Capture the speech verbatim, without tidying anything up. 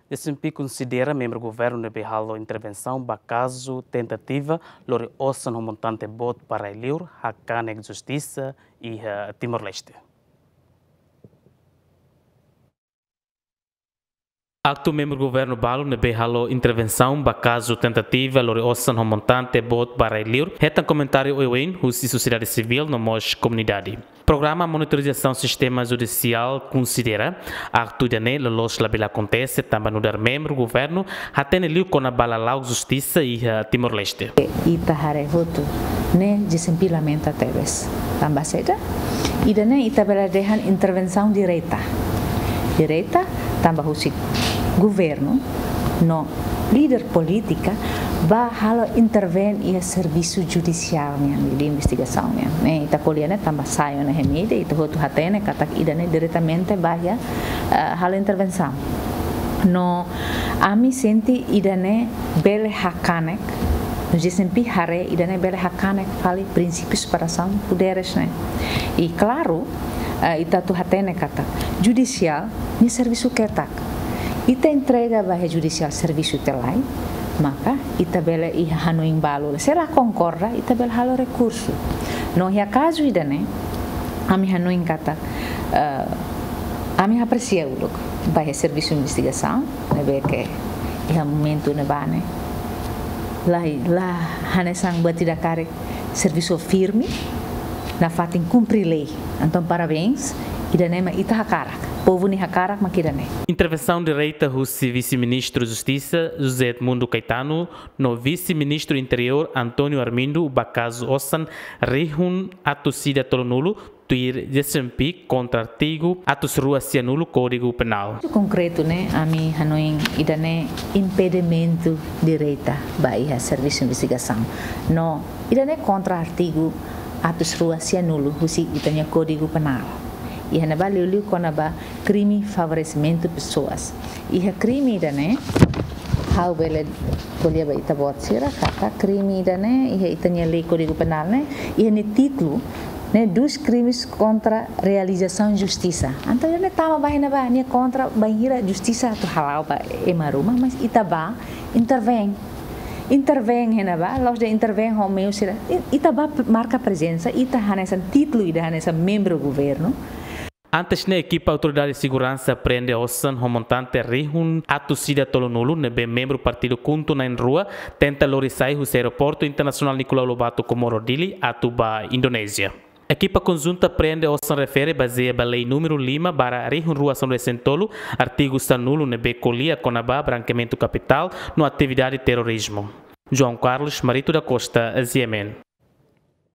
Desempi konsidera membru governu ne'ebé halo intervensaun ba kazu tentativa lori osan ho montante boot ba rai-liur hakanek justisa iha Timor-Leste. Aktu membru governu balu ne'ebé halo intervensaun ba kazu tentativa lori osan ho montante boot ba rai-liur hetan komentáriu oioin husi sosiedade sivíl no mós komunidade. Programa monitorizasaun sistema judisiál konsidera aktu ida-ne'e loloos labele akontese tanba nu'udar membru governu hatene liu kona-ba lala'ok justisa iha Timor-Leste. Ita haree hotu ne'e desempi lamenta tebes. Tanba saida? Ida-ne'e ita bele dehan intervensaun direta. Direta tanba husi governu no líder polítika bá halo intervein iha servisu judisiál nian, de investigasaun nian. Ne'e, ita ko'alia ne'e tanba sai ona iha mídia, ita hotu hatene katak ida-ne'e diretamente bá iha, eh, halo intervensaun. No ami sente ida-ne'e bele hakanek, no desempi haree ida-ne'e bele hakanek fali prinsípiu separasaun poderes ne'e. I klaru, eh, ita atu hatene katak judisiál nia servisu ketak. Ita entrega ba iha judisiál servisu ita lai, maka ita bele iha hanoin balu. Se la konkorda, ita bele halo rekursu. No iha kazu ida-ne'e, ami hanoin katak, eh, ami apresia uluk ba iha servisu investigasaun ne'ebé ke iha momentu ne'ebá ne'e la, la hanesan buat ida karik servisu firme nafatin kumpre lei. Entaun, parabéns, ida-ne'e mak ita hakarak. Povu nia hakarak mak ida-ne'e. Intervensaun direta husi Vise-Ministru Justisa, José Edmundo Caetano, no Vise-Ministru Interiór, António Armindo, ba kazu osan rihun atus ida tolunulu, tuir desempi kontra artigu atus rua sianulu Kódigu Penál. Konkretu ne'e, ami hanoin ida-ne'e impedimentu direta ba iha servisu investigasaun. No ida-ne'e kontra artigu atus rua sianulu husi ita-nia Kódigu Penál. Iha ne'ebá liuliu kona-ba krime favoresimentu pesoas. Iha krime ida-ne'e, ha'u bele ko'alia ba ita-boot sira katak krime ida-ne'e iha ita-nia lei Kódigu Penál ne'e, iha nia títulu ne'e, dos crimes contra realização de justiça. Entaun ida-ne'e tama ba iha ne'ebá, nia kontra bainhira justisa atu hala'o ba ema ruma, mas ita bá intervein. Intervein iha ne'ebá, la'ós de'it intervein ho meiu sira. I-, ita bá p-, marka prezensa, ita hanesan títulu ida hanesan membru governu. Antes ne'e, ekipa Autoridade Seguransa prende osan ho montante rihun atus ida tolunulu ne'ebé membru partidu KHUNTO na'in-rua tenta lori sai husi Aeroportu Internasionál Nicolau Lobato Comoro Dili atu ba Indonézia. Ekipa konjunta prende osan refere bazeia ba lei númeru lima barra rihun rua sanulu-resin-tolu, artigu sanulu ne'ebé ko'alia kona-ba brankeamentu kapitál no atividade terrorizmu. João Carlos Marito da Costa, G M N.